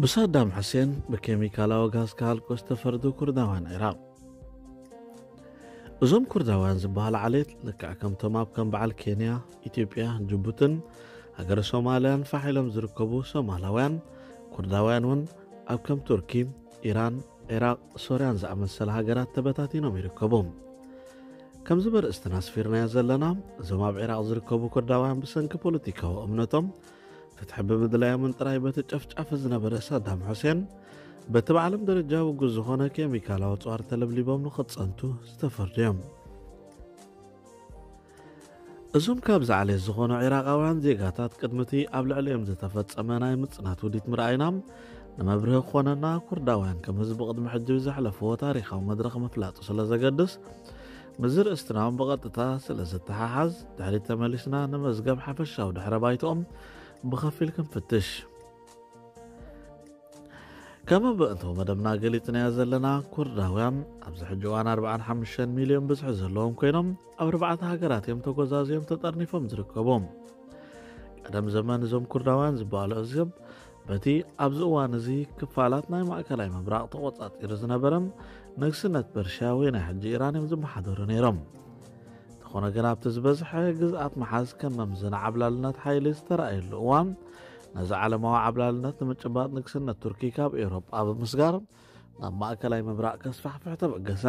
ብሳዳም ሑሴን ብኬሚካላዊ ጋዝ ክሃልቁ ዝተፈርዱ ኩርዳውያን ዒራቕ። እዞም ኩርዳውያን ዝበሃሉ ዓሌት ልክዕ ከምቶም ኣብ ከም በዓል ኬንያ፣ ኢትዮጵያ፣ ጅቡትን ሃገረ ሶማልያን ፋሕ ኢሎም ዝርከቡ ሶማላውያን፣ ኩርዳውያን እውን ኣብ ከም ቱርኪ፣ ኢራን፣ ዒራቕ፣ ሶርያን ዝኣመሰላ ሃገራት ተበታቲኖም ይርከቡ። ከምዚ በርእስትና ኣስፊርናዮ ዘለና፣ እዞም ኣብ ዒራቕ ዝርከቡ ኩርዳውያን ብሰንኪ ፖለቲካዊ እምነቶም ፍትሒ ብምድላዮምን ጥራይ በቲ ጨፍጫፍ ዝነበረ ሳዳም ሑሴን በቲ ብዓለም ደረጃ ውጉዝ ዝኾነ ኬሚካላዊ ኣፅዋር ተለብሊቦም ንኽፀንቱ ዝተፈርዱ እዮም። እዞም ካብዚ ዓሌት ዝኾኑ ዒራቓውያን ዜጋታት ቅድሚ እቲ ኣብ ልዕሊኦም ዝተፈጸመ ናይ ምጽናት ውዲት ምርኣይና ንመብርሂ ክኾነና ኩርዳውያን ከም ህዝቢ ቅድሚ ሕጂ ብዘሕለፍዎ ታሪኻዊ መድረኽ ምፍላጡ ስለ ዘገድስ ምስዚ ርእስትናውን ብቐጥታ ስለ ዝተሓሓዝ ድሕሪት ተመሊስና ንመዝገብ ሓፈሻዊ ድሕረ ባይትኦም ብኸፊል ክንፍትሽ። ከም ብእንቶ መደብና ገሊጽናዮ ዘለና ኩርዳውያን ኣብዚ ሕጂ እዋን ኣርባዓን ሓሙሽተን ሚልዮን ብዝሒ ዘለዎም ኮይኖም ኣብ ኣርባዕተ ሃገራት እዮም ተጎዛዝዮም ተጠርኒፎም ዝርከቡ። ቀደም ዘመን እዞም ኩርዳውያን ዝበሃሉ ኣህዛብ በቲ ኣብዚ እዋን እዚ ክፋላት ናይ ማእከላይ ምብራቕ ተቖጻጺሩ ዝነበረ ንግስነት ፐርሽያ ወይ ናይ ሕጂ ኢራን እዮም ዝመሓደሩ ነይሮም። እንተኾነ ግን ኣብቲ ዝበዝሐ ግዝኣት ምሓዝ ከም መምዘኒ ዓብላልነት ሓይሊ ዝተራእየሉ እዋን ነዚ ዓለማዊ ዓብላልነት ንምጭባጥ ንግስነት ቱርኪ ካብ ኤውሮጳ ብምስጋር ናብ ማእከላይ ምብራቕ ከስፋሕፍሕ ተበገሰ።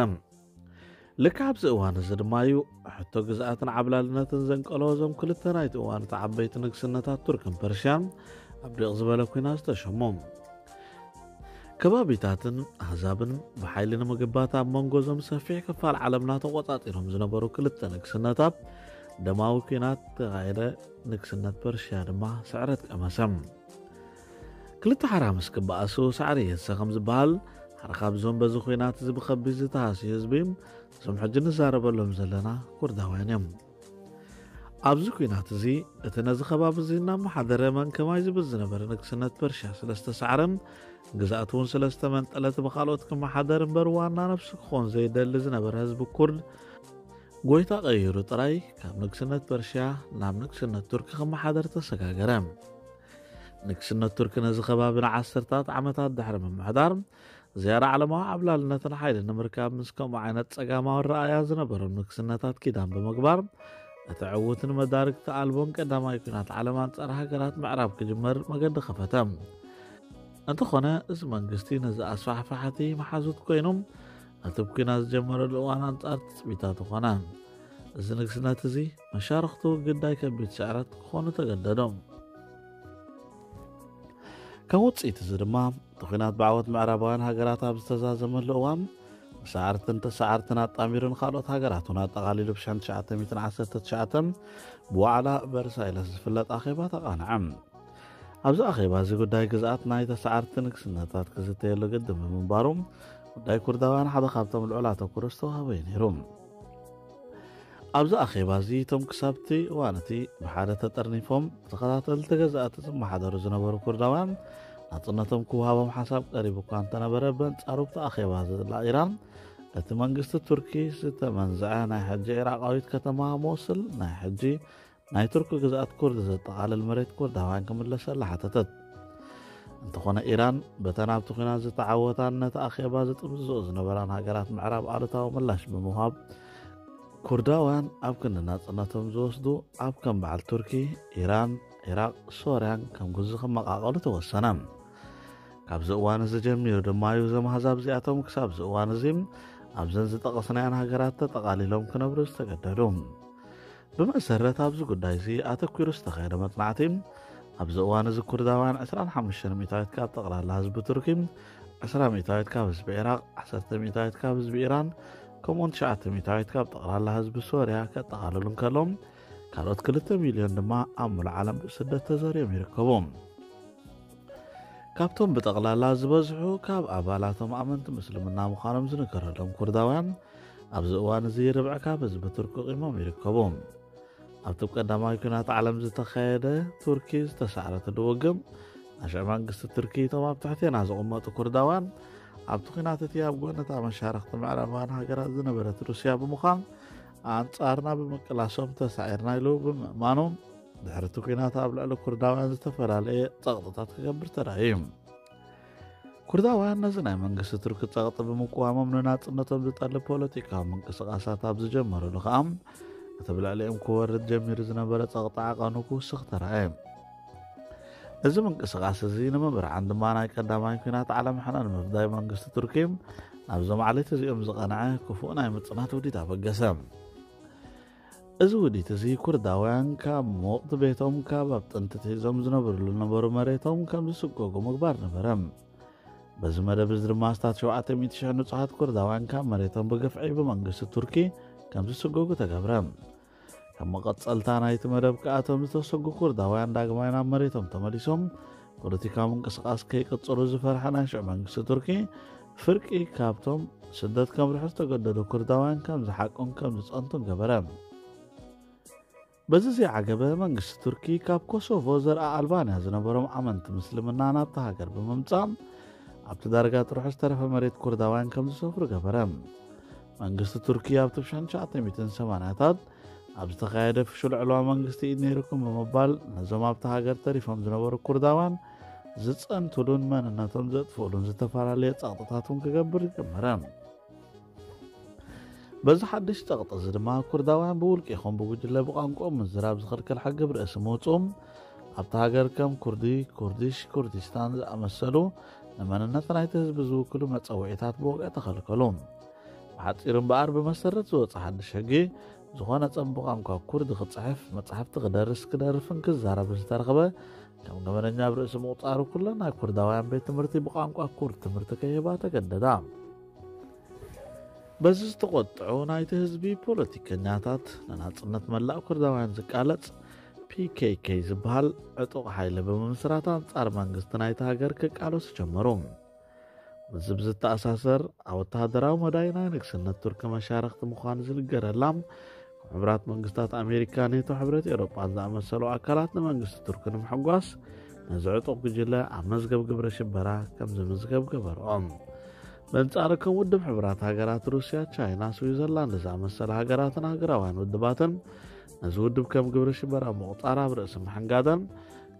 ልክዕ ኣብዚ እዋን እዚ ድማ እዩ ሕቶ ግዝኣትን ዓብላልነትን ዘንቀሎ እዞም ክልተ ናይቲ እዋን እቲ ዓበይቲ ንግስነታት ቱርክን ፐርሽያን ኣብ ዲቕ ዝበለ ኲናት ዝተሸሙ። ከባቢታትን ኣህዛብን ብሓይሊ ንምግባት ኣብ መንጎ እዞም ሰፊሕ ክፋል ዓለምና ተቖጻጺሮም ዝነበሩ ክልተ ንግስነታት ደማዊ ኲናት ተኻየደ። ንግስነት ፐርሽያ ድማ ስዕረት ቀመሰ። ክልተ ሓራ ምስ ክበኣሱ ሳዕሪ የሰ ከም ዝበሃል ሓደ ካብዞም በዚ ኲናት እዚ ብኸቢድ ዝተሃስዩ ህዝቢ እዞም ሕጂ ንዛረበሎም ዘለና ኩርዳውያን እዮም። ኣብዚ ኲናት እዚ እቲ ነዚ ከባቢ እዚ እናመሓደረ መን ከማይ ዝብል ዝነበረ ንግስነት ፐርሽያ ስለ ዝተሳዕረ ግዝኣቱ እውን ስለ ዝተመንጠለት ብኻልኦት ክመሓደር እምበር ዋና ነብሱ ክኾን ዘይደሊ ዝነበረ ህዝቢ ኩርድ ጎይታ ቀይሩ ጥራይ ካብ ንግስነት ፐርሽያ ናብ ንግስነት ቱርኪ ክመሓደር ተሰጋገረ። ንግስነት ቱርኪ ነዚ ከባቢ ንዓሰርታት ዓመታት ድሕሪ ምምሕዳር ዝያዳ ዓለማዊ ዓብላልነትን ሓይልን ንምርካብ ምስ ከምኡ ዓይነት ጸጋማዊ ረኣያ ዝነበሮም ንግስነታት ኪዳን ብምግባር እቲ ዕዉትን መዳርግቲ ኣልቦን ቀዳማይ ኲናት ዓለም ኣንጻር ሃገራት ምዕራብ ክጅመር መገዲ ከፈተ። እንተኾነ እዚ መንግስቲ ነዚ ኣስፋሕፋሕቲ መሓዙት ኮይኑ እቲ ኲናት ዝጀመረሉ እዋን ኣንጻር ትጽቢታቱ ኮነ። እዚ ንግስነት እዚ መሻርኽቱ ግዳይ ከቢድ ስዕረት ክኾኑ ተገደዶም። ከም ውጽኢት እዚ ድማ እቲ ኲናት ብዓወት ምዕራባውያን ሃገራት ኣብ ዝተዛዘመሉ እዋን መሳዕርትን ተሳዓርትን ኣጣሚሩ ንኻልኦት ሃገራት እውን ኣጠቓሊሉ ብሽሕን ትሽዓተ ሚእትን ዓሰርተ ትሽዓተን ብዋዕላ ቨርሳይለስ ዝፍለጥ ኣኼባ ተቓንዐ። ኣብዚ ኣኼባ እዚ ጉዳይ ግዝኣት ናይ ተሳዓርቲ ንግስነታት ክዝተየሉ ግድን ብምንባሩ ጉዳይ ኩርዳውያን ሓደ ካብቶም ልዑል ኣተኩሮ ዝተዋህቦ እዩ ነይሩ። ኣብዚ ኣኼባ እዚ እቶም ክሳብቲ እዋን እቲ ብሓደ ተጠርኒፎም ብተኸታተልቲ ገዛእቲ ዝመሓደሩ ዝነበሩ ኩርዳውያን ናጽነቶም ክወሃቦም ሓሳብ ቀሪቡ እኳ እንተነበረ በንጻሩ ብቲ ኣኼባ ዝላ ኢራን እቲ መንግስቲ ቱርኪ ዝተመንዝዐ ናይ ሕጂ ኢራቃዊት ከተማ ሞስል ናይ ሕጂ ናይ ቱርኪ ግዝኣት ኩርድ ዘጠቓልል መሬት ኩርዳውያን ክምለሰላ ሓተተት። እንተኾነ ኢራን በተን ኣብቲ ኲናት ዝተዓወታን ነቲ ኣኼባ ዝጥምዝዝኦ ዝነበራን ሃገራት ምዕራብ ኣሉታዊ ምላሽ ብምሃብ ኩርዳውያን ኣብ ክንዲ ናጽነቶም ዝወስዱ ኣብ ከም በዓል ቱርኪ፣ ኢራን፣ ዒራቕ፣ ሶርያን ከም ግዙ ክመቓቐሉ ተወሰነ። ካብዚ እዋን እዚ ጀሚሩ ድማ እዩ እዞም ኣህዛብ እዚኣቶም ክሳብ እዚ እዋን እዚ ኣብዘን ዝጠቐስናየን ሃገራት ተጠቓሊሎም ክነብሩ ዝተገደዱ። ብመሰረት ኣብዚ ጉዳይ እዚ ኣተኲሩ ዝተኻየደ መጽናዕቲ ኣብዚ እዋን እዚ ኩርዳውያን ዕስራን ሓሙሽተን ሚእታዊት ካብ ጠቕላላ ህዝቢ ቱርኪ፣ ዕስራ ሚእታዊት ካብ ህዝቢ ዒራቕ፣ ዓሰርተ ሚእታዊት ካብ ህዝቢ ኢራን ከምኡውን ትሽዓተ ሚእታዊት ካብ ጠቕላላ ህዝቢ ሶርያ ከጠቓልሉ እንከሎም ካልኦት ክልተ ሚልዮን ድማ ኣብ ሙሉእ ዓለም ብስደት ተዘርዮም ይርከቡ። ካብቶም ብጠቕላላ ዝበዝሑ ካብ ኣባላቶም ኣመንቲ ምስልምና ምዃኖም ዝንገረሎም ኩርዳውያን ኣብዚ እዋን እዚ ርብዒ ካብ ህዝቢ ቱርኪ ቂሞም ይርከቡ። ኣብቲ ቀዳማይ ኲናት ዓለም ዝተኻየደ ቱርኪ ዝተሳዕረትሉ ውግእ ኣሽዕ መንግስቲ ቱርኪ እቶም ኣብ ትሕቴና ዝቕመጡ ኩርዳውያን ኣብቲ ኲናት እቲ ኣብ ጎነታ መሻርኽቲ ምዕራባውያን ሃገራት ዝነበረት ሩስያ ብምዃን ኣንጻርና ብምቅላሶም ተሳዒርና ኢሉ ብምእማኑ ድሕሪ እቲ ኲናት ኣብ ልዕሊ ኩርዳውያን ዝተፈላለየ ጸቕጥታት ክገብር ተራእዩ እዩ። ኩርዳውያን ነዚ ናይ መንግስቲ ቱርኪ ጸቕጢ ብምቅዋሞም ንናጽነቶም ዝጠልብ ፖለቲካዊ ምንቅስቓሳት ኣብ ዝጀመሩሉ ከኣ፣ እቲ ብልዕሊኦም ክወርድ ጀሚሩ ዝነበረ ጸቕጢ ዓቐኑ ክውስኽ ተራእየ። እዚ ምንቅስቓስ እዚ ንምብርዓን ድማ ናይ ቀዳማይ ኲናት ዓለም ሕነ ንምፍዳይ መንግስቲ ቱርኪ ናብዞም ዓሌት እዚኦም ዝቐንዐ ክፉእ ናይ ምጽናት ውዲት ኣበገሰ። እዚ ውዲት እዚ ኩርዳውያን ካብ ሙቕት ቤቶም፣ ካብ ኣብ ጥንቲ ትሒዞም ዝነብርሉ ዝነበሩ መሬቶም ከም ዝስጎጉ ምግባር ነበረ። በዚ መደብ እዚ ድማ ኣስታት ሸውዓተ ሚእቲ ሽሕ ንጹሃት ኩርዳውያን ካብ መሬቶም ብግፍዒ ብመንግስቲ ቱርኪ ከም ዝስጎጉ ተገብረ። ከም መቐጸልታ ናይቲ መደብ ከኣ እቶም ዝተሰጉ ኩርዳውያን ዳግማይ ናብ መሬቶም ተመሊሶም ፖለቲካዊ ምንቅስቓስ ከይቅጽሉ ዝፈርሐ ናይ ሽዑ መንግስቲ ቱርኪ፣ ፍርቂ ካብቶም ስደት ከምርሑ ዝተገደዱ ኩርዳውያን ከም ዝሓቁን ከም ዝጸንቱን ገበረ። በዚ ዘይዓገበ መንግስቲ ቱርኪ ካብ ኮሶቮ ዘርኣ ኣልባንያ ዝነበሮም ኣመንቲ ምስልምና ናብታ ሃገር ብምምጻእ ኣብቲ ዳርጋ ጥርሑ ዝተረፈ መሬት ኩርዳውያን ከም ዝሰፍሩ ገበረ። መንግስቲ ቱርኪ ኣብቲ ብ ሽሕን ትሽዓተ ሚእትን ሰማንያታት ኣብ ዝተኻየደ ፍሹል ዕልዋ መንግስቲ ኢድ ነይርኩም ብምባል ነዞም ኣብታ ሃገር ተሪፎም ዝነበሩ ኩርዳውያን ዝጸንትሉን መንነቶም ዘጥፍኡሉን ዝተፈላለየ ጸቕጥታት እውን ክገብር ጀመረ። በዚ ሓድሽ ጸቕጢ እዚ ድማ ኩርዳውያን ብውልቂ ይኹን ብጉጅለ ብቋንቋኦም ምዝራብ ዝኽልክል ሕጊ ብርእሲ ምውጽኡ ኣብታ ሃገር ከም ኩርዲ፣ ኩርዲሽ፣ ኩርዲስታን ዝኣመሰሉ ንመንነት ናይቲ ህዝቢ ዝውክሉ መጸውዒታት ብወግዒ ተኸልከሉ። ብሓጺሩ እምበኣር ብመሰረት ዝወጸ ሓድሽ ሕጊ ዝኾነ ሰብ ብቋንቋ ኩርዲ ክጽሕፍ፣ መጻሕፍቲ ክደርስ፣ ክደርፍን ክዛረብን ዝተረኽበ ከም ገበነኛ ብርእሲ ምቑጻሩ ኩለን ናይ ኩርዳውያን ቤት ትምህርቲ ብቋንቋ ኩርድ ትምህርቲ ከይህባ ተገደዳ። በዚ ዝተቖጥዑ ናይቲ ህዝቢ ፖለቲከኛታት ንናጽነት መላእ ኩርዳውያን ዝቃለጽ ፒ ኬ ኬ ዝበሃል ዕጡቕ ሓይሊ ብምምስራት ኣንጻር መንግስቲ ናይቲ ሃገር ክቃለሱ ጀመሩ። ምስዚ ብዝተኣሳሰር ኣብ ወተሃደራዊ መዳይ ናይ ንግስነት ቱርኪ መሻርኽቲ ምዃን ዝንገረላ ካብ ሕቡራት መንግስታት ኣሜሪካ፣ ኔቶ፣ ሕብረት ኤውሮጳን ዝኣመሰሉ ኣካላት ንመንግስቲ ቱርኪ ንምሕጓስ ነዚ ዕጡቕ ጉጅለ ኣብ መዝገብ ግብረ ሽበራ ከም ዝምዝገብ ገበርኦም። በንጻሩ ከም ውድብ ሕቡራት ሃገራት፣ ሩስያ፣ ቻይና፣ ስዊዘርላንድ ዝኣመሰላ ሃገራትን ሃገራውያን ውድባትን ነዚ ውድብ ከም ግብረ ሽበራ ምቑጻር ኣብ ርእሲ ምሕንጋደን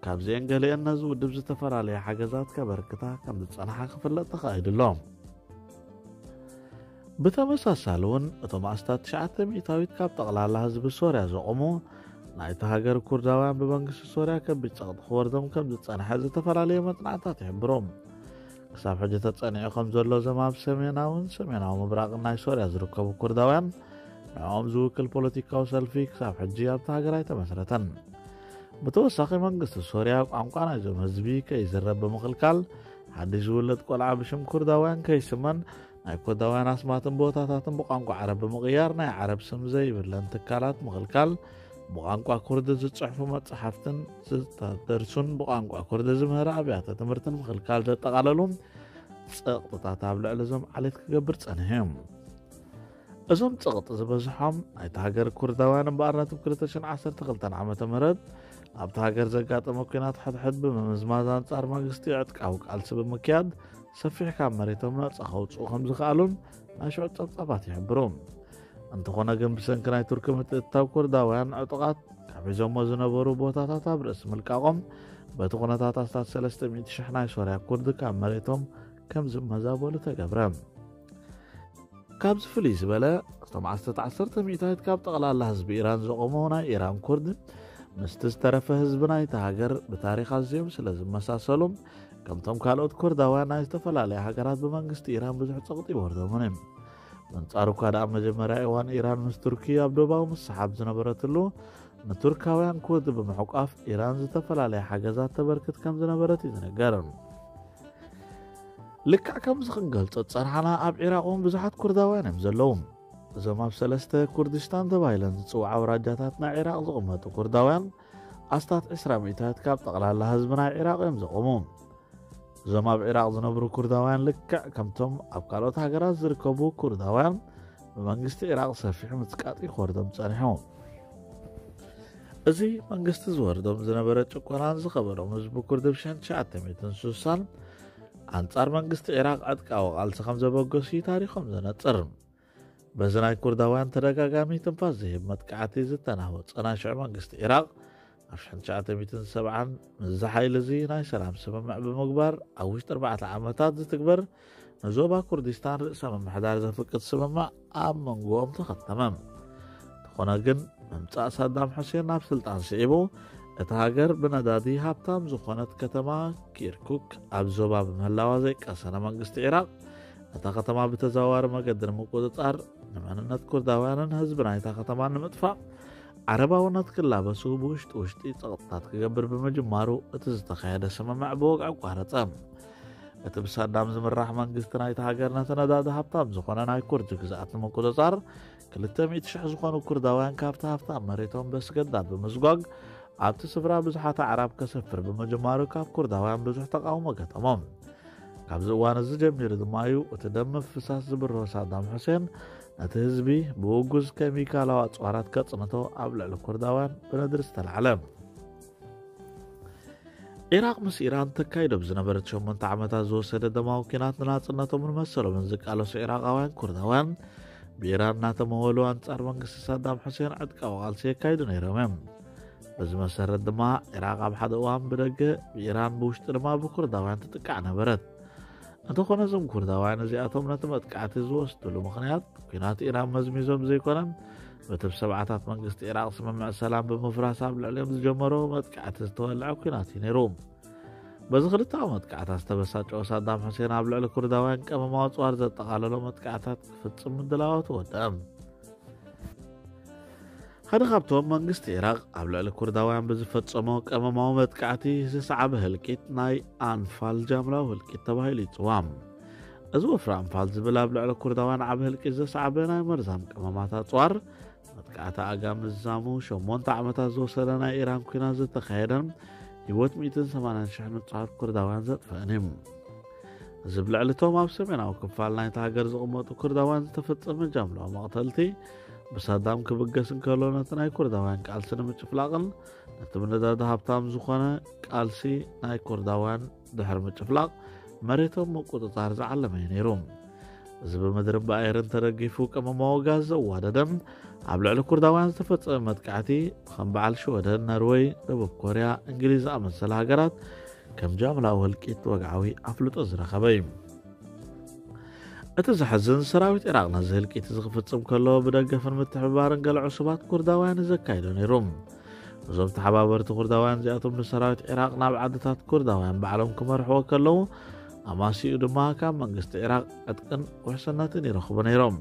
ካብዚአን ገሊአን ነዚ ውድብ ዝተፈላለየ ሓገዛት ከበርክታ ከም ዝጸንሓ ክፍለጥ ተኻኢሉ ኣሎ። ብተመሳሳሊ እውን እቶም ኣስታት ትሽዓተ ሚእታዊት ካብ ጠቕላላ ህዝቢ ሶርያ ዘቑሙ ናይቲ ሃገር ኩርዳውያን ብመንግስቲ ሶርያ ከቢድ ጸቕጢ ክወርዶም ከም ዝጸንሐ ዝተፈላለየ መጽናዕታት ይሕብሩ። ክሳብ ሕጂ ተጸኒዑ ከም ዘሎ እዞም ኣብ ሰሜናውን ሰሜናዊ ምብራቕን ናይ ሶርያ ዝርከቡ ኩርዳውያን ንዕኦም ዝውክል ፖለቲካዊ ሰልፊ ክሳብ ሕጂ ኣብታ ሃገር ኣይተመስረተን። ብተወሳኺ መንግስቲ ሶርያ ቋንቋ ናይዞም ህዝቢ ከይዝረብ ብምኽልካል ሓድሽ ዝውለድ ቆልዓ ብሽም ኩርዳውያን ከይስመን ናይ ኩርዳውያን ኣስማትን ቦታታትን ብቋንቋ ዓረብ ብምቕያር ናይ ዓረብ ስም ዘይብለን ትካላት ምኽልካል ብቋንቋ ኩርድ ዝጽሕፉ መጽሓፍትን ዝተደርሱን ብቋንቋ ኩርድ ዝምህር ኣብያተ ትምህርትን ምኽልካል ዘጠቓለሉ ጸቕጥታት ኣብ ልዕሊ እዞም ዓሌት ክገብር ጸኒሑ እዩ። እዞም ጸቕጢ ዝበዝሖም ናይቲ ሃገር ኩርዳውያን እምበኣር ነቲ ብ ክልተ ሽሕን ዓሰርተ ክልተን ዓመተ ምህረት ኣብቲ ሃገር ዘጋጠመ ኲናት ሕድሕድ ብምምዝማዝ ኣንጻር መንግስቲ ዕጥቃዊ ቃልሲ ብምክያድ ሰፊሕ ካብ መሬቶም ነጻ ከውጽኡ ከም ዝኸኣሉን ናይ ሽዑ ጸብጻባት ይሕብሩ። እንተኾነ ግን ብሰንኪ ናይ ቱርኪ ምትእትታው ኩርዳውያን ዕጡቓት ካብ ሒዞሞ ዝነበሩ ቦታታት ኣብ ርእሲ ምልቃቖም በቲ ኩነታት ኣስታት ሰለስተ ሚእቲ ሽሕ ናይ ሶርያ ኩርድ ካብ መሬቶም ከም ዝመዛበሉ ተገብረ። ካብዚ ፍልይ ዝበለ እቶም ኣስታት ዓሰርተ ሚእታዊት ካብ ጠቕላላ ህዝቢ ኢራን ዘቖሙ ናይ ኢራን ኩርድ ምስቲ ዝተረፈ ህዝቢ ናይቲ ሃገር ብታሪኽ ኣዝዮም ስለ ዝመሳሰሉ ከምቶም ካልኦት ኩርዳውያን ናይ ዝተፈላለያ ሃገራት ብመንግስቲ ኢራን ብዙሕ ጸቕጢ ይወርዶምን እዩ። በንጻሩ እኳ ደኣ ኣብ መጀመርያ እዋን ኢራን ምስ ቱርኪ ኣብ ዶባዊ ምስሓብ ዝነበረትሉ ንቱርካውያን ኩርድ ብምሕቋፍ ኢራን ዝተፈላለያ ሓገዛት ተበርክት ከም ዝነበረት እዩ ዝንገር። ልክዕ ከምዚ ክንገልጾ ዝጸናሕና ኣብ ዒራቕ እውን ብዙሓት ኩርዳውያን እዮም ዘለዉ። እዞም ኣብ ሰለስተ ኩርድሽታን ተባሂለን ዝጽውዓ ኣውራጃታት ናይ ዒራቕ ዝቕመጡ ኩርዳውያን ኣስታት ዕስራ ሚእታዊት ካብ ጠቕላላ ህዝቢ ናይ ዒራቕ እዮም ዘቖሙ። እዞም ኣብ ዒራቕ ዝነብሩ ኩርዳውያን ልክዕ ከምቶም ኣብ ካልኦት ሃገራት ዝርከቡ ኩርዳውያን ብመንግስቲ ዒራቕ ሰፊሕ ምጽቃጥ ክወርዶም ጸኒሑ። እዚ መንግስቲ ዝወርዶም ዝነበረ ጭቆናን ዝኸበዶም ህዝቢ ኩርድ ብ ሽሕን ትሽዓተ ሚእትን ስሳን ኣንጻር መንግስቲ ዒራቕ ዕጥቃዊ ቃልሲ ከም ዘበገሱ እዩ ታሪኾም ዘነጽር። በዚ ናይ ኩርዳውያን ተደጋጋሚ ትንፋስ ዝህብ መጥቃዕቲ ዝተናወጸ ናይ ሽዑ መንግስቲ ዒራቕ ኣብ ሽሕን ትሽዓተ ሚእትን ሰብዓን ምስዚ ሓይሊ እዚ ናይ ሰላም ስምምዕ ብምግባር ኣብ ውሽጢ ኣርባዕተ ዓመታት ዝትግበር ንዞባ ኩርዲስታን ርእሰ ምምሕዳር ዘፍቅድ ስምምዕ ኣብ መንጎኦም ተኸተመ። እንተኾነ ግን ምምጻእ ሳዳም ሑሴን ናብ ስልጣን ስዒቡ እታ ሃገር ብነዳዲ ሃብታም ዝኾነት ከተማ ኪርኩክ ኣብ ዞባ ብምህላዋ ዘይቀሰነ መንግስቲ ኢራቕ ነታ ከተማ ብተዘዋዋሪ መገዲ ንምቁጽጻር ንመንነት ኩርዳውያንን ህዝቢ ናይታ ከተማን ንምጥፋእ ዓረባውነት ክላበሱ ብውሽጢ ውሽጢ ጸቕጥታት ክገብር ብምጅማሩ እቲ ዝተኻየደ ስምምዕ ብወግዒ ኣቋረጸ። እቲ ብሳዳም ዝምራሕ መንግስቲ ናይቲ ሃገር ነቲ ነዳዲ ሃብታም ዝኾነ ናይ ኩርድ ግዝኣት ንምቁጽጻር ክልተ ሚእቲ ሽሕ ዝኾኑ ኩርዳውያን ካብቲ ሃብታም መሬቶም በስገዳድ ብምስጓግ ኣብቲ ስፍራ ብዙሓት ኣዕራብ ከሰፍር ብምጅማሩ ካብ ኩርዳውያን ብዙሕ ተቃውሞ ገጠሞም። ካብዚ እዋን እዚ ጀሚሩ ድማ እዩ እቲ ደም ምፍሳስ ዝብርሆ ሳዳም ሑሴን ነቲ ህዝቢ ብውጉዝ ኬሚካላዊ ኣጽዋራት ከጽንቶ ኣብ ልዕሊ ኩርዳውያን ብነድሪ ዝተላዕለ። ኢራቕ ምስ ኢራን ተካይዶ ብዝነበረት ሸሞንተ ዓመታት ዝወሰደ ደማዊ ኲናት ንናጽነቶምን መሰሎምን ዝቃለሱ ኢራቓውያን ኩርዳውያን ብኢራን እናተመወሉ ኣንጻር መንግስቲ ሳዳም ሑሴን ዕጥቃዊ ቃልሲ የካይዱ ነይሮም እዮም። በዚ መሰረት ድማ ኢራቕ ኣብ ሓደ እዋን ብደገ ብኢራን ብውሽጢ ድማ ብኩርዳውያን ትጥቃዕ ነበረት። እንተኾነ እዞም ኩርዳውያን እዚኣቶም ነቲ መጥቃዕቲ ዝወስድሉ ምኽንያት ኲናት ኢራን መዝሚዞም ዘይኮነን በቲ ብሰብዓታት መንግስቲ ኢራቕ ስምምዕ ሰላም ብምፍራስ ኣብ ልዕሊኦም ዝጀመሮ መጥቃዕቲ ዝተወልዐ ኲናት እዩ ነይሩ። በዚ ክልተኣዊ መጥቃዕታት ዝተበሳጨወ ሳዳም ሑሴን ኣብ ልዕሊ ኩርዳውያን ቀመማዊ ኣጽዋር ዘጠቓለሎ መጥቃዕታት ክፍጽም ምድላዋቱ ወደአ። ሓደ ካብቶም መንግስቲ ኢራቕ ኣብ ልዕሊ ኩርዳውያን ብዝፈጸሞ ቀመማዊ መጥቃዕቲ ዝሰዓበ ህልቂት ናይ ኣንፋል ጃምላዊ ህልቂት ተባሂሉ ይጽዋዕ። እዚ ወፍሪ ኣንፋል ዝብል ኣብ ልዕሊ ኩርዳውያን ዓቢ ህልቂት ዘስዓበ ናይ መርዛም ቀመማት ኣጽዋር መጥቃዕቲ ኣጋ ምዝዛሙ ሸሞንተ ዓመታት ዝወሰደ ናይ ኢራን ኲናት ዝተኻየደን ህይወት ሚእትን ሰማንያን ሽሕ ንጹሃት ኩርዳውያን ዘጥፈአን እዩ። እዚ ብልዕሊ እቶም ኣብ ሰሜናዊ ክፋል ናይቲ ሃገር ዝቕመጡ ኩርዳውያን ዝተፈጸመ ጃምላዊ መቕተልቲ ብሳዳም ክብገስ እንከሎ ነቲ ናይ ኩርዳውያን ቃልሲ ንምጭፍላቕን ነቲ ብነዳዲ ሃብታም ዝኾነ ቃልሲ ናይ ኩርዳውያን ድሕሪ ምጭፍላቕ መሬቶም ምቁጽጻር ዝዓለመ እዩ ነይሩ። እዚ ብምድርን ብኣየርን ተደጊፉ ቀመማዊ ጋዝ ዘዋደደ ኣብ ልዕሊ ኩርዳውያን ዝተፈጸመ መጥቃዕቲ ከም በዓል ሽወደን፣ ነርወይ፣ ደቡብ ኮርያ፣ እንግሊዝ ዝኣመሰለ ሃገራት ከም ጃምላዊ ህልቂት ወግዓዊ ኣፍልጦ ዝረኸበ እዩ። እቲ ዘሕዝን ሰራዊት ኢራቕ ነዚ ህልቂት እዚ ክፍጽም ከሎ ብደገፍን ምትሕብባርን ገለ ዕሱባት ኩርዳውያን ዘካይዶ ነይሩ። እዞም ተሓባበርቲ ኩርዳውያን እዚኣቶም ንሰራዊት ኢራቕ ናብ ዓድታት ኩርዳውያን ባዕሎም ክመርሕዎ ከለዉ ኣማሲኡ ድማ ካብ መንግስቲ ኢራቕ ዕጥቅን ውሕስነትን ይረኽቡ ነይሮም።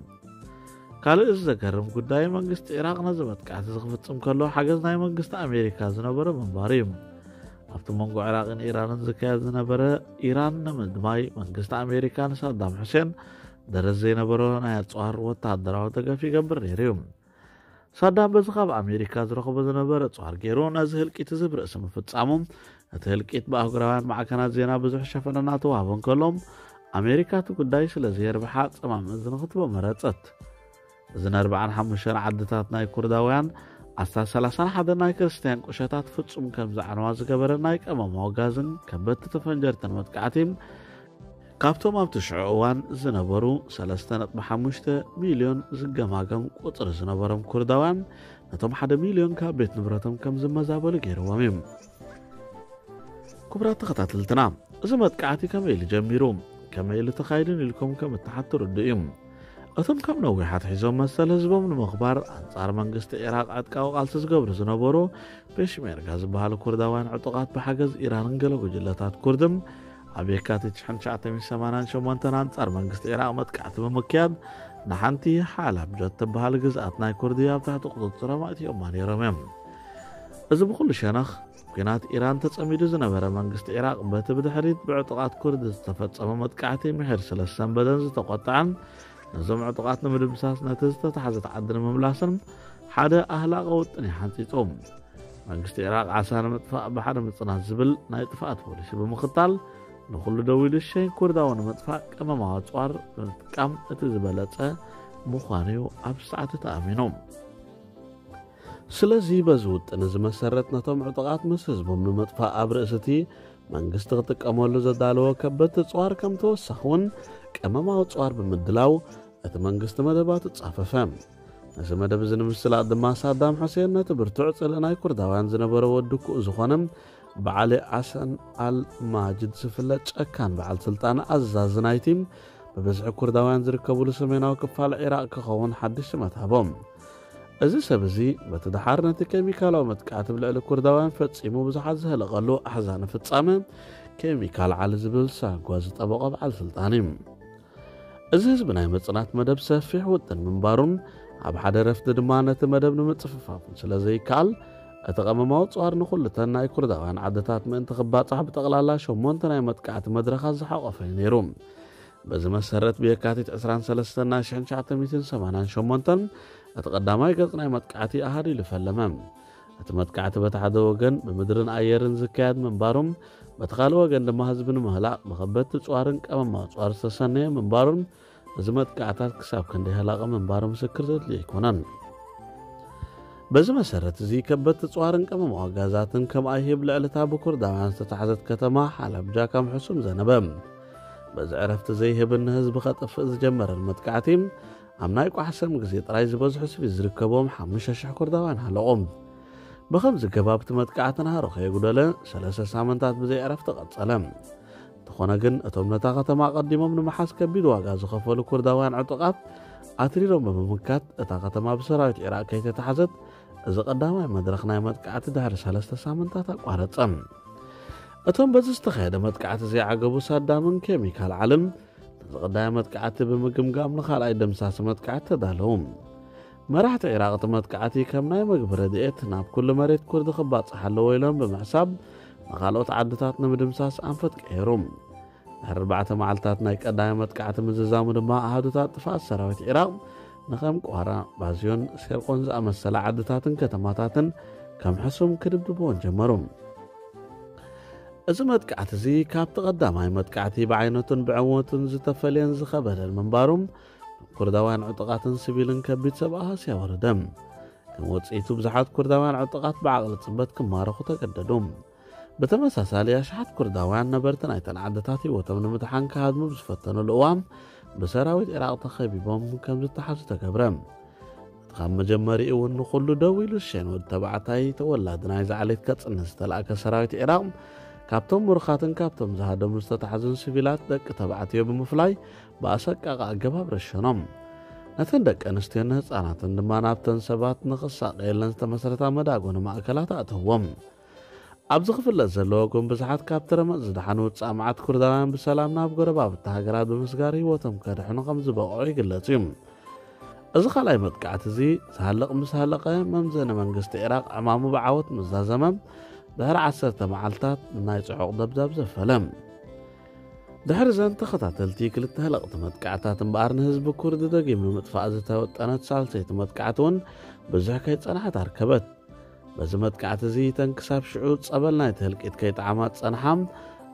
ካልእ እዚ ዘገርም ጉዳይ መንግስቲ ኢራቕ ነዚ መጥቃዕቲ እዚ ክፍጽም ከሎ ሓገዝ ናይ መንግስቲ ኣሜሪካ ዝነበረ ምንባሩ እዩ። ኣብቲ መንጎ ኢራቕን ኢራንን ዝካየድ ዝነበረ ኢራን ንምድማይ መንግስቲ ኣሜሪካ ንሳዳም ሑሴን ደረት ዘይነበሮ ናይ ኣጽዋር ወተሃደራዊ ደገፍ ይገብር ነይሩ እዩ። ሳዳም በዚ ካብ ኣሜሪካ ዝረኽቦ ዝነበረ ኣጽዋር ገይሩ ነዚ ህልቂት እዚ ብርእሲ ምፍጻሙ እቲ ህልቂት ብኣህጉራውያን ማዕከናት ዜና ብዙሕ ሸፈነ እናተዋህቦ እንከሎ ኣሜሪካ እቲ ጉዳይ ስለ ዘየርብሓ ጸማም እዝኒ ክትቦ መረጸት። እዚ ንኣርባዓን ሓሙሽተን ዓድታት ናይ ኩርዳውያን ኣስታት ሰላሳን ሓደን ናይ ክርስትያን ቁሸታት ፍጹም ከም ዘዕነዋ ዝገበረ ናይ ቀመማዊ ጋዝን ከበድቲ ተፈንጀርትን መጥቃዕቲ ካብቶም ኣብቲ ሽዑ እዋን ዝነበሩ ሰለስተ ነጥቢ ሓሙሽተ ሚልዮን ዝገማገም ቁጽሪ ዝነበሮም ኩርዳውያን ነቶም ሓደ ሚልዮን ካብ ቤት ንብረቶም ከም ዝመዛበሉ ገይርዎም እዩ። ክቡራት ተኸታተልትና፣ እዚ መጥቃዕቲ ከመይ ኢሉ ጀሚሩ? ከመይ ኢሉ ተኻይዱን ኢልኩም ከም እትሓቱ ርዱእ እዩ። እቶም ካብ ነዊሕ ኣትሒዞም መሰል ህዝቦም ንምኽባር ኣንጻር መንግስቲ ኢራቕ ዕጥቃዊ ቃልሲ ዝገብሩ ዝነበሩ ፔሽሜርጋ ዝበሃሉ ኩርዳውያን ዕጡቓት ብሓገዝ ኢራንን ገለ ጉጅለታት ኩርድን ኣብ የካቲት ሽሕን ትሽዓተ ሚእትን ሰማንያን ሸሞንተን ኣንጻር መንግስቲ ኢራቕ መጥቃዕቲ ብምክያድ ንሓንቲ ሓላብ ጀት ትበሃል ግዝኣት ናይ ኩርዲ ኣብ ትሕቲ ቁጽጽሮም ኣእትዮማ ነይሮም እዮም። እዚ ብኹሉ ሸነኽ ኲናት ኢራን ተጸሚዱ ዝነበረ መንግስቲ ኢራቕ በቲ ብድሕሪት ብዕጡቓት ኩርድ ዝተፈጸመ መጥቃዕቲ ምሒር ስለ ዝሰንበደን ዝተቖጥዐን ነዞም ዕጡቓት ንምድምሳስ ነቲ ዝተታሕዘት ዓዲ ንምምላስን ሓደ ኣህላቒ ውጥን እዩ ሓንጺጹ። መንግስቲ ኢራቕ ዓሳ ንምጥፋእ ብሓደ ምጽናት ዝብል ናይ ጥፍኣት ፖሊሲ ብምኽታል ንኹሉ ደው ኢሉ ሸይን ኩርዳዊ ንምጥፋእ ቀመማዊ ኣጽዋር ብምጥቃም እቲ ዝበለጸ ምዃኑ እዩ ኣብ ሰዓት ተኣሚኑ። ስለዚ በዚ ውጥን እዚ መሰረት ነቶም ዕጡቓት ምስ ህዝቦም ንምጥፋእ ኣብ ርእሲ እቲ መንግስቲ ክጥቀመሉ ዘዳለዎ ከበድቲ ኣጽዋር ከም ተወሳኺ እውን ቀመማዊ ኣጽዋር ብምድላው እቲ መንግስቲ መደባቱ ጻፈፈ። ነዚ መደብ እዚ ንምስላጥ ድማ ሳዳም ሑሴን ነቲ ብርቱዕ ጽልእ ናይ ኩርዳውያን ዝነበረ ወዲ ኩኡ ዝኾነ ብዓሊ ኣሰን ኣል ማጅድ ዝፍለጥ ጨካን በዓል ስልጣን ኣዛዚ ናይቲ ብብዝሒ ኩርዳውያን ዝርከብሉ ሰሜናዊ ክፋል ዒራቕ ክኸውን ሓድሽ ሽመት ሃቦም። እዚ ሰብ እዚ በቲ ደሓር ነቲ ኬሚካላዊ መጥቃዕቲ ብልዕሊ ኩርዳውያን ፈጺሙ ብዙሓት ዘህለቐሉ ኣሕዛኒ ፍጻመ ኬሚካል ዓሊ ዝብል ሳጓ ዝጠበቖ በዓል ስልጣን እዩ። እዚ ህዝቢ ናይ መጽናት መደብ ሰፊሕ ውጥን ምንባሩን ኣብ ሓደ ረፍቲ ድማ ነቲ መደብ ንምጽፍፋፉን ስለ ዘይከኣል እቲ ቀመማዊ ጽዋር ንኹልተን ናይ ኩርዳውያን ዓድታት ምእንቲ ክባጻሕ ብጠቕላላ ሸሞንተ ናይ መጥቃዕቲ መድረኻት ዝሓቖፈ እዩ ነይሩ። በዚ መሰረት ብየካቲት ዕስራን ሰለስተን ናይ ሽሕን ትሽዓተ ሚእትን ሰማንያን ሸሞንተን እቲ ቀዳማይ ገጽ ናይ መጥቃዕቲ ኣሃዲሉ ፈለመ። እቲ መጥቃዕቲ በቲ ሓደ ወገን ብምድርን ኣየርን ዝካየድ ምንባሩም በቲ ካልእ ወገን ድማ ህዝቢ ንምህላቕ ብኸበድቲ ጽዋርን ቀመማዊ ጽዋር ዝተሰነየ ምንባሩን እዚ መጥቃዕታት ክሳብ ክንደይ ሃላቂ ምንባሩ ምስክር ዘድልዮ ኣይኮነን። በዚ መሰረት እዚ ከበድቲ ጽዋርን ቀመማዊ ጋዛትን ከም ኣይሂብ ልዕልታ ብኩርዳውያን ዝተታሕዘት ከተማ ሓላብጃ ከም ሕሱም ዘነበ። በዚ ዕረፍቲ ዘይህብን ንህዝቢ ከጥፍእ ዝጀመረን መጥቃዕቲ ኣብ ናይ ቋሕሰም ግዜ ጥራይ ዝበዝሑ ስቪል ዝርከብዎም ሓሙሽተ ሽሕ ኩርዳውያን ሃለቑ። ብኸምዚ ገባብ እቲ መጥቃዕቲ ናህሩ ከየጉደለ ሰለስተ ሳምንታት ብዘይ ዕረፍቲ ቀጸለ። እንተኾነ ግን እቶም ነታ ከተማ ኣቐዲሞም ንምሓዝ ከቢድ ዋጋ ዝኸፈሉ ኩርዳውያን ዕጡቓት ኣትሪሮም ብምምካት እታ ከተማ ብሰራዊት ዒራቕ ከይተታሕዘት እዚ ቀዳማይ መድረኽ ናይ መጥቃዕቲ ድሕሪ ሰለስተ ሳምንታት ኣቋረጸ። እቶም በዚ ዝተኻየደ መጥቃዕቲ ዘይዓገቡ ሳዳምን ኬሚካል ዓልን ነዚ ቀዳማይ መጥቃዕቲ ብምግምጋም ንኻልኣይ ደምሳሲ መጥቃዕቲ ተዳለዉ። መራሕቲ ዒራቕ እቲ መጥቃዕቲ ከም ናይ መግቢ ረድኤት ናብ ኩሉ መሬት ኩርዲ ክባጻሕ ኣለዎ ኢሎም ብምሕሳብ ንኻልኦት ዓድታት ንምድምሳስ ኣንፈት ቀየሩ። ድሕሪ ኣርባዕተ መዓልታት ናይ ቀዳማይ መጥቃዕቲ ምዝዛሙ ድማ ኣሃዱታት ጥፍኣት ሰራዊት ዒራቕ ንኸም ቋራ፣ ባዝዮን፣ ሴርቆን ዝኣመሰላ ዓድታትን ከተማታትን ከም ሕሱም ክድብድብዎን ጀመሩ። እዚ መጥቃዕቲ እዚ ካብቲ ቀዳማይ መጥቃዕቲ ብዓይነቱን ብዕወቱን ዝተፈልየን ዝኸበደን ምንባሩ ኩርዳውያን ዕጡቓትን ሲቪልን ከቢድ ሰብኣዊ ሃስያ ወረደ። ከም ውጽኢቱ ብዙሓት ኩርዳውያን ዕጡቓት ብዓቕሊ ጽበት ክማረኹ ተገደዱ። ብተመሳሳሊ ኣሽሓት ኩርዳውያን ነበርቲ ናይተን ዓድታት ህይወቶም ንምድሓን ክሃድሙ ብዝፈተኑሉ እዋን ብሰራዊት ዒራቕ ተኸቢቦም ከም ዝተሓዙ ተገብረ። እቲ ካብ መጀመሪኡ እውን ንኹሉ ደው ኢሉ ዝሸይን ወዲ ተባዕታይ ተወላዲ ናይዛ ዓሌት ከጽንት ዝተላእከ ሰራዊት ዒራቕ ካብቶም ምሩኻትን ካብቶም ዝሃደሙ ዝተታሕዙን ሲቪላት ደቂ ተባዕትዮ ብምፍላይ ብኣሰቃቒ ኣገባብ ረሸኖም። ነተን ደቂ ኣንስትዮን ንህጻናትን ድማ ናብተን ሰባት ንኽሳቐየለን ዝተመስረታ መዳጎኒ ማእከላት ኣእተዎም። ኣብዚ ክፍለጥ ዘለዎ ግን ብዙሓት ካብቲ ረመጽ ዝደሓኑ ውጻእ መዓት ኩርዳውያን ብሰላም ናብ ጎረባብቲ ሃገራት ብምስጋር ህይወቶም ከድሕኑ ከም ዝበቕዑ ይግለጽ እዩ። እዚ ካልኣይ መጥቃዕቲ እዚ ዝሃልቕ ምስ ሃለቐ መምዘኒ መንግስቲ ዒራቕ ዕማሙ ብዓወት ምስ ዛዘመ ድሕሪ ዓሰርተ መዓልታት ናይ ጽዑቕ ደብዳብ ዘፈለ። ድሕሪ ዘን ተኸታተልቲ ክልተ ህለቕቲ መጥቃዕታት እምበኣር ንህዝቢ ኩርዲ ደጊም ንምጥፋእ ዝተወጠነት ሳልሰይቲ መጥቃዕቲ እውን ብዙሕ ከይጸንሐት ኣርከበት። በዚ መጥቃዕቲ እዚ እተን ክሳብ ሽዑ ጸበል ናይቲ ህልቂት ከይጠዓማ ዝጸንሓ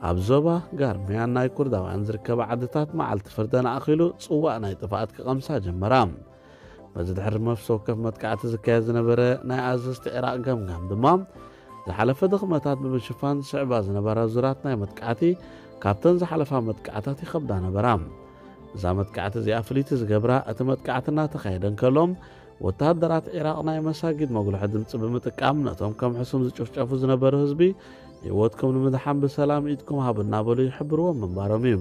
ኣብ ዞባ ጋርሚያን ናይ ኩርዳውያን ዝርከባ ዓድታት መዓልቲ ፍርደን ኣኺሉ ጽዋእ ናይ ጥፍኣት ክቐምሳ ጀመራ። በዚ ድሕሪ ነፍሲ ወከፍ መጥቃዕቲ ዝካየድ ዝነበረ ናይ ኣዘዝቲ ዒራቕ ገምጋም ድማ ዝሓለፈ ድኽመታት ብምሽፋን ዝስዕባ ዝነበራ ዙራት ናይ መጥቃዕቲ ካብተን ዝሓለፋ መጥቃዕታት ይኸብዳ ነበራ። እዛ መጥቃዕቲ እዚኣ ፍልይቲ ዝገብራ እቲ መጥቃዕቲ እናተኻየደ እንከሎ ወተሃደራት ዒራቕ ናይ መሳጊድ መጉልሒ ድምፂ ብምጥቃም ነቶም ከም ሕሱም ዝጭፍጨፉ ዝነበሩ ህዝቢ ህይወትኩም ንምድሓን ብሰላም ኢድኩም ሃቡ እናበሉ ይሕብርዎም ምንባሮም እዩ።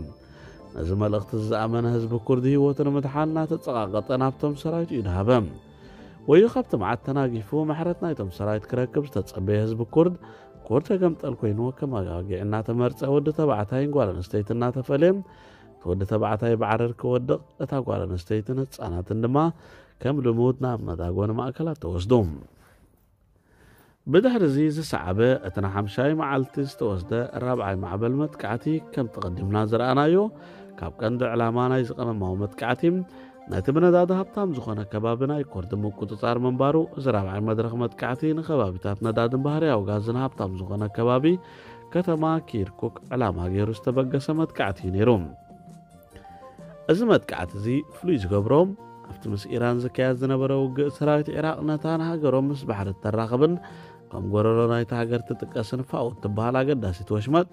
ነዚ መልእኽቲ ዝኣመነ ህዝቢ ኩርዲ ህይወቱ ንምድሓን እናተፀቓቐጠ ናብቶም ሰራዊት እዩ ድሃበ። ወዮ ካብቲ መዓት ተናጊፉ ምሕረት ናይቶም ሰራዊት ክረክብ ዝተፀበየ ህዝቢ ኩርድ ኩርድ ተገምጠል ኮይኑ ከመጋግዒ እናተመርፀ ወዲ ተባዕታይን ጓል ኣንስተይቲ እናተፈለየ እቲ ወዲ ተባዕታይ ብዓረር ክወድቕ እታ ጓል ኣንስተይትን ህፃናትን ድማ ከም ልሙድ ናብ መዳጎኒ ማእከላት ተወስዱ። ብድሕሪ እዚ ዝሰዓበ እቲ ንሓምሻይ መዓልቲ ዝተወስደ ራብዓይ ማዕበል መጥቃዕቲ ከምቲ ቀዲምና ዝረኣናዮ ካብ ቀንዲ ዕላማ ናይ ዝቐመማዊ መጥቃዕቲ ነቲ ብነዳዲ ሃብታም ዝኾነ ከባቢ ናይ ኮርድ ምቁጽጻር ምንባሩ እዚ ራብዓይ መድረኽ መጥቃዕቲ ንከባቢታት ነዳድን ባህርያዊ ጋዝን ሃብታም ዝኾነ ከባቢ ከተማ ኪርኩክ ዕላማ ገይሩ ዝተበገሰ መጥቃዕቲ እዩ ነይሩ። እዚ መጥቃዕቲ እዚ ፍሉይ ዝገብሮ ኣብቲ ምስ ኢራን ዝካየድ ዝነበረ ውግእ ሰራዊት ዒራቕ ነታ ንሃገሮም ምስ ባሕሪ እተራኽብን ከም ጎረሮ ናይቲ ሃገር ትጥቀስን ፋኡ እትበሃል ኣገዳሲት ወሽመጥ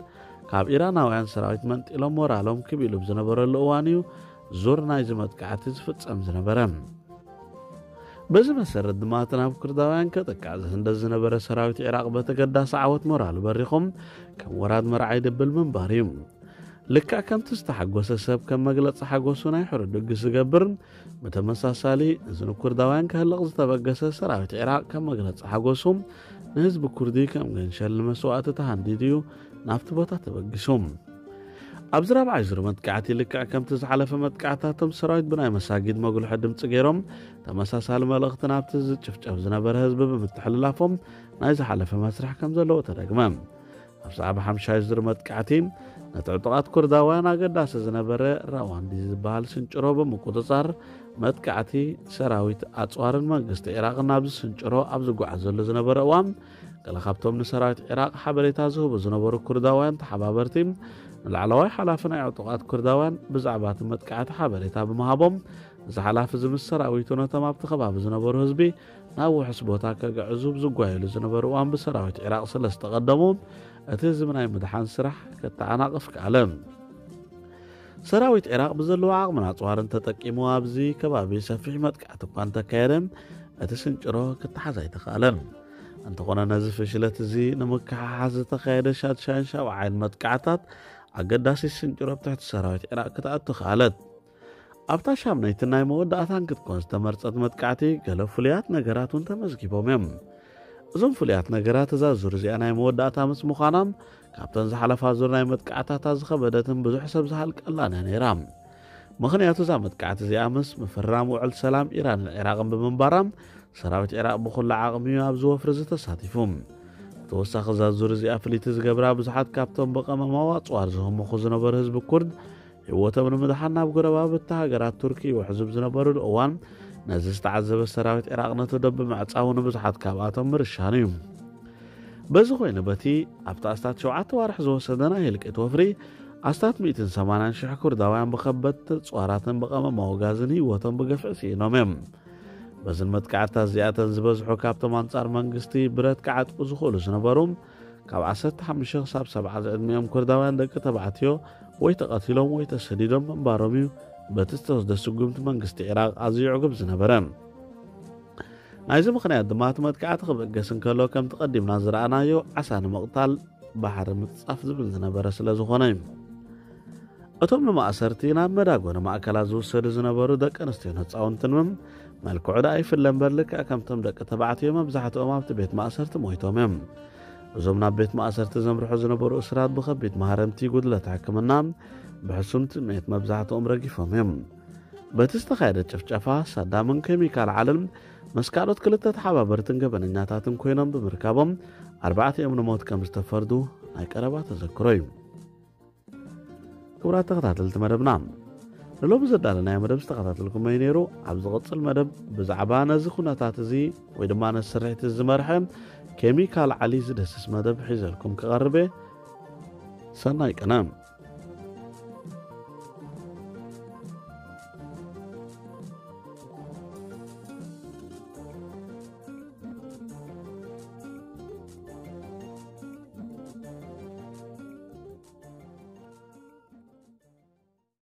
ካብ ኢራናውያን ሰራዊት መንጢሎም ሞራሎም ክብ ኢሉ ብዝነበረሉ እዋን እዩ ዙር ናይዚ መጥቃዕቲ ዝፍጸም ዝነበረ። በዚ መሰረት ድማ እቲ ናብ ኩርዳውያን ከጥቃዕ ዝህንደስ ዝነበረ ሰራዊት ዒራቕ በተገዳሲ ዓወት ሞራሉ በሪኹም ከም ወራድ መርዓ ይድብል ምንባር እዩ። ልክዕ ከምቲ ዝተሓጎሰ ሰብ ከም መግለፂ ሓጎሱ ናይ ሕሩድ ድግስ ዝገብር፣ ብተመሳሳሊ እዚ ንኩርዳውያን ከህልቕ ዝተበገሰ ሰራዊት ዒራቕ ከም መግለፂ ሓጎሱ ንህዝቢ ኩርዲ ከም ገንሸል ንመስዋእቲ ተሃንዲዱ እዩ ናብቲ ቦታ ተበጊሱ። ኣብዚ ራብዓይ ዙር መጥቃዕቲ ልክዕ ከምቲ ዝሓለፈ መጥቃዕታቶም ሰራዊት ብናይ መሳጊድ መጉልሒ ድምፂ ገይሮም ተመሳሳሊ መልእኽቲ ናብቲ ዝጭፍጨፍ ዝነበረ ህዝቢ ብምትሕልላፎም ናይ ዝሓለፈ መስርሕ ከም ዘለዎ ተደግመ። ኣብ ሰዓብ ሓምሻይ ዙር መጥቃዕቲ ነቲ ዕጡቓት ኩርዳውያን ኣገዳሲ ዝነበረ ራዋንዲ ዝበሃል ስንጭሮ ብምቁፅፃር መጥቃዕቲ ሰራዊት ኣፅዋርን መንግስቲ ዒራቕን ናብዚ ስንጭሮ ኣብ ዝጓዓዘሉ ዝነበረ እዋን ገለ ካብቶም ንሰራዊት ዒራቕ ሓበሬታ ዝህቡ ዝነበሩ ኩርዳውያን ተሓባበርቲ ንላዕለዋይ ሓላፊ ናይ ዕጡቓት ኩርዳውያን ብዛዕባ እቲ መጥቃዕቲ ሓበሬታ ብምሃቦም እዚ ሓላፊ እዚ ምስ ሰራዊቱ ነቶም ኣብቲ ከባቢ ዝነበሩ ህዝቢ ናብ ውሑስ ቦታ ከግዕዙ ዝጓየሉ ዝነበሩ እዋን ብሰራዊት ዒራቕ ስለ ዝተቐደሙ እቲ ህዝቢ ናይ ምድሓን ስራሕ ከተዓናቕፍ ከኣለ። ሰራዊት ዒራቕ ብዘለዎ ዓቕምን ኣፅዋርን ተጠቂሙ ኣብዚ ከባቢ ሰፊሕ መጥቃዕቲ እኳ እንተካየደ እቲ ስንጭሮ ክተሓዝ ኣይተኻእለን። እንተኾነ ነዚ ፍሽለት እዚ ንምክሓሓዝ ዝተኻየደ ሻድሻይን ሻብዓይን መጥቃዕታት ኣገዳሲ ስንጭሮ ኣብ ትሕቲ ሰራዊት ዒራቕ ክትኣቱ ከኣለት። ኣብታ ሻምነይትን ናይ መወዳእታን ክትኮን ዝተመርጸት መጥቃዕቲ ገለ ፍሉያት ነገራት እውን ተመዝጊቦም እዮም። እዞም ፍሉያት ነገራት እዛ ዙር እዚኣ ናይ መወዳእታ ምስ ምዃና ካብተን ዝሓለፋ ዙር ናይ መጥቃዕታታ ዝኸበደትን ብዙሕ ሰብ ዝሃልቀላን እያ ነይራ። ምኽንያቱ እዛ መጥቃዕቲ እዚኣ ምስ ምፍራም ውዕል ሰላም ኢራንን ዒራቕን ብምንባራ ሰራዊት ዒራቕ ብኹሉ ዓቕሚ እዩ ኣብዚ ወፍሪ እዚ ተሳቲፉ። ብተወሳኺ እዛ ዙር እዚኣ ፍልይቲ ዝገብራ ብዙሓት ካብቶም ብቐመማዊ ኣፅዋር ዝህምኹ ዝነበሩ ህዝቢ ኩርድ ህይወቶም ንምድሓን ናብ ጎረባብቲ ሃገራት ቱርኪ ይውሕዙ ዝነበሩሉ እዋን ነዚ ዝተዓዘበ ሰራዊት ዒራቕ ነቲ ዶብ ብምዕጻው ንብዙሓት ካብኣቶም ምርሻኑ እዩ። በዚ ኮይኑ በቲ ኣብቲ ኣስታት ሸውዓተ ዋርሕ ዝወሰደ ናይ ህልቂት ወፍሪ ኣስታት ሚእትን ሰማንያን ሽሕ ኩርዳውያን ብኸበድቲ ኣፅዋራትን ብቐመማዊ ጋዝን ህይወቶም ብገፍዒ ስኢኖም እዮም። በዝን መጥቃዕትታት እዚኣተን ዝበዝሑ ካብቶም ኣንጻር መንግስቲ ብረት ክዓጥቁ ዝኽእሉ ዝነበሩ ካብ ዓሰርተ ሓሙሽተ ክሳብ ሰብዓ ዝዕድሚኦም ኩርዳውያን ደቂ ተባዕትዮ ወይ ተቐቲሎም ወይ ተሰዲዶም ምንባሮም እዩ በቲ ዝተወስደ ስጉምቲ መንግስቲ ዒራቕ ኣዝዩ ዕጉብ ዝነበረ። ናይዚ ምኽንያት ድማ እቲ መጥቃዕቲ ክብገስ እንከሎ ከምቲ ቀዲምና ዝረኣናዮ ዓሳ ንምቕታል ባሕሪ ምጽጻፍ ዝብል ዝነበረ ስለ ዝኾነ እዩ። እቶም ንማእሰርቲ ናብ መዳጎኒ ማእከላት ዝውሰዱ ዝነበሩ ደቂ ኣንስትዮን ህፃውንትን እውን መልክዑ ደኣ ይፍለ እምበር ልክዕ ከምቶም ደቂ ተባዕትዮ መብዛሕትኦም ኣብቲ ቤት ማእሰርቲ ሞይቶም እዮም። እዞም ናብ ቤት ማእሰርቲ ዘምርሑ ዝነበሩ እስራት ብኸቢድ ማህረምቲ ጉድለት ሕክምና ብሕሱም ትምኒት መብዛሕትኦም ረጊፎም እዮም። በቲ ዝተኻየደ ጭፍጨፋ ሳዳምን ኬሚካል ዓልን ምስ ካልኦት ክልተ ተሓባበርትን ገበነኛታትን ኮይኖም ብምርካቦም ኣርባዕቲኦም ንሞት ከም ዝተፈርዱ ናይ ቀረባ ተዘክሮ እዩ። ክቡራት ተኸታተልቲ መደብና ንሎሚ ዘዳለናዮ መደብ ዝተኸታተልኩሞ እዩ ነይሩ። ኣብ ዝቕጽል መደብ ብዛዕባ ነዚ ኩነታት እዚ ወይ ድማ ነዚ ስርሒት እዚ ዝመርሐ ኬሚካል ዓሊ ዝደስስ መደብ ሒዘልኩም ክቐርብ እየ። ሰናይ ቅነ።